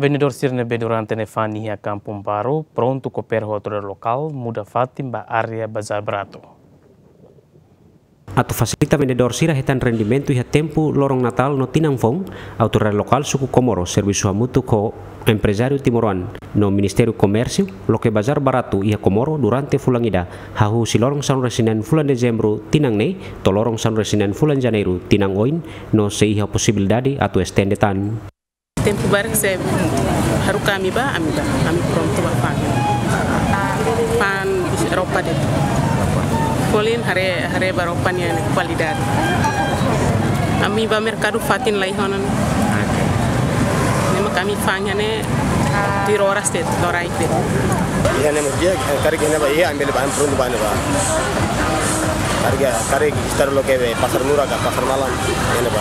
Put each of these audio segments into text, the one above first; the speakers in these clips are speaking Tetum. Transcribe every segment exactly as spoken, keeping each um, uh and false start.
Vendedór sira ne'ebé durante ne'e fa'an iha Kampung Baru prontu koopera ho autoridade lokál muda fatin ba área Bazar Baratu. Atu fasilita vendedór sira hetan rendimentu iha tempu loron Natál no tinan foun, autoridade lokál suku Comoro servisu hamutuk ho emprezáriu timoroan no Ministériu Komérsiu loke Bazar Baratu iha Comoro durante fulan ida, hahú husi loron sanulu-resin-neen fulan Dezembru tinan ne'e to'o loron sanulu-resin-neen fulan Janeiru tinan oin, no sei iha posibilidade atu estende tan. Tempu barak se haruka ami bá, ami bá, ami prontu ba fa'an. Fa'an roupa de'it. Folin haree, haree ba roupa nian kualidade. Ami bá merkadu fatin la iha ona. Oke. Ne'e mak ami fa'an iha ne'e tuir oras de'it, loraik de'it. Iha ne'e mak di'ak, karik iha ne'ebá iha, ami bele bá, ami prontu bá ne'ebá. Karik, karik estar loke be pasar murah ka pasar malam, iha ne'ebá.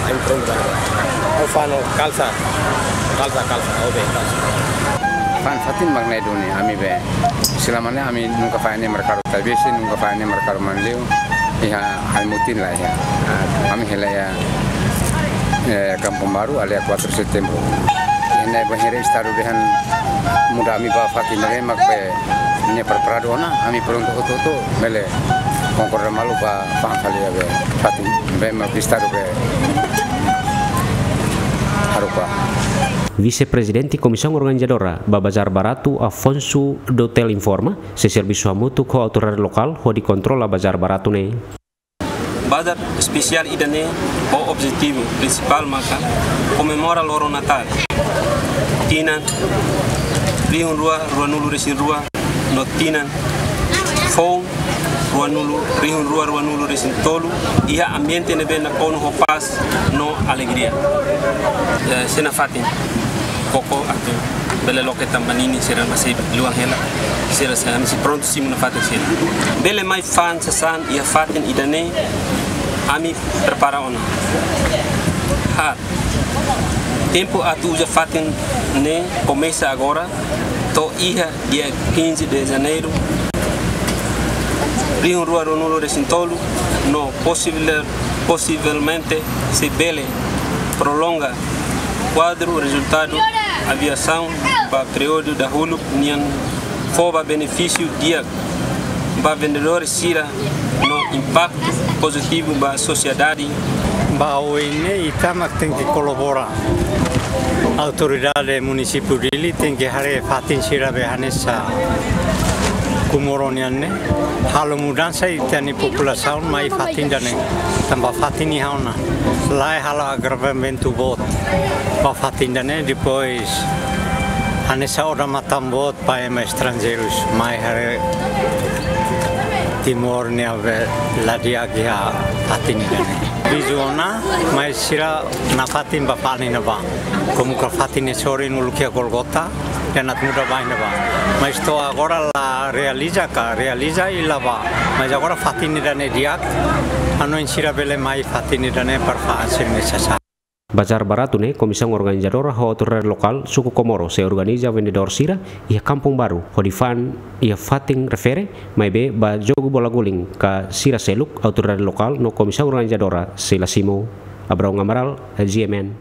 Ami prontu bá ne'ebá. Ha'u fa'an kalsa. Kalsa, kalsa. Ha'u be kalsa. Fa'an fatin mak ne'e duni, ami be. Selama ne'e ami nunka fa'an iha merkadu Taibesi, nunka fa'an iha merkadu Manleu. Iha ami mutin la iha. Ami hela iha, eh, Kampung Baru, área kuatru Setembru. Iha ne'e bainhira Estadu dehan muda ami bá fatin ne'e mak be ne'e preparadu ona, ami prontu hotu-hotu, bele konkorda malu bá fa'an fali iha be fatin, be mak Estadu be haruka. Vise-Prezidente Komisaun Organizadora ba Bazar Baratu, Afonso Dotel, informa, sei servisu hamutuk ho autoridade lokál hodi kontrola Bazar Baratu ne'e. Bazar espesiál ida-ne'e ho objetivu prinsipál maka komemora loron Natál, tinan rihun rua ruanulu-resin-rua no tinan foun ruanulu, rihun rua ruanulu-resin-tolu, iha ambiente ne'ebé nakonu ho pás no alegria. Eh, sira nafatin koko atu bele loke tanba ninin sira mós sei luan hela, sira sei, ami sei prontu simu nafatin sira. Bele mai fa'an sasán iha fatin ida-ne'e, ami prepara ona. Haat. Tempu atu uza fatin ne'e komesa agora, to'o iha dia quinze de Janeiro, rihun rua ruanulu-resin-tolu, no posivel-, posivelmente sei bele prolonga kuadru rezultadu aviasaun ba períodu dahuluk nian, fó ba benefísiu di'ak ba vendedór sira no impaktu pozitivu ba sosiedade. Ba oin ne'e ita mak tenke kolabora. Autoridade Munisípiu Dili tenke haree fatin sira be hanesan Comoro nian ne'e. Halo mudansa ita-nia populasaun mai fatin ida-ne'e. Tanba fatin iha ona. Lae halo agravamentu boot ba fatin ida-ne'e, depois hanesan odamatan boot ba ema estranjeirus mai haree Timor nia be la di'ak iha fatin ida-ne'e. Vizu ona, mais sira nafatin bá fa'an iha ne'ebá. Komu ka fatin ne'e sorin uluk iha Golgota, dehan atu muda bá iha ne'ebá. Mais to'o agora la realiza ka, realiza i la bá. Mais agora fatin ida-ne'e di'ak, hanoin sira bele mai fatin ida-ne'e para fa'an sira-nia sasán. Bazar Baratu ne'e, komisaun organizadora ho autoridade lokál suku Comoro sei organiza vendedór sira iha Kampung Baru hodi fa'an iha fatin refere, maibé ba jogu bola guling ka sira seluk, autoridade lokál no komisaun organizadora sei la simu. Abraão Amaral, G M N.